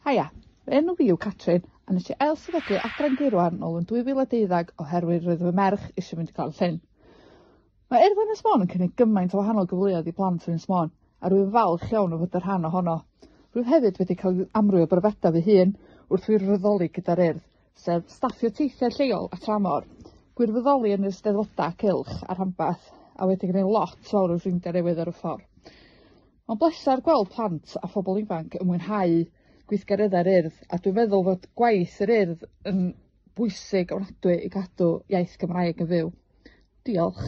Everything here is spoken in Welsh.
Haia, fy enw fi yw Catrin a nes i ailsefydlu Adran Gaerwan nôl yn 2012 oherwydd roedd fy merch eisiau mynd i Glan Llyn. Mae Urdd Ynys Môn yn cynnig gymaint o wahanol gyfleoedd i blant Ynys Môn a rwy'n falch iawn o fod yn rhan ohono. Rwyf hefyd wedi cael amryw o brofiadau fy hun wrth wirfoddoli gyda'r Urdd, sef staffio teithiau lleol a tramor, gwirfoddoli yn yr Eisteddfodau cylch a rhanbarth a wedi gwneud lot fawr o ffrindiau newydd ar y ffordd. Mae'n bleser gweld plant a phobl ifanc yn mwynhau gweithgareddau'r Urdd a dwi'n meddwl fod gwaith yr Urdd yn bwysig ofnadwy i gadw iaith Gymraeg yn fyw. Diolch.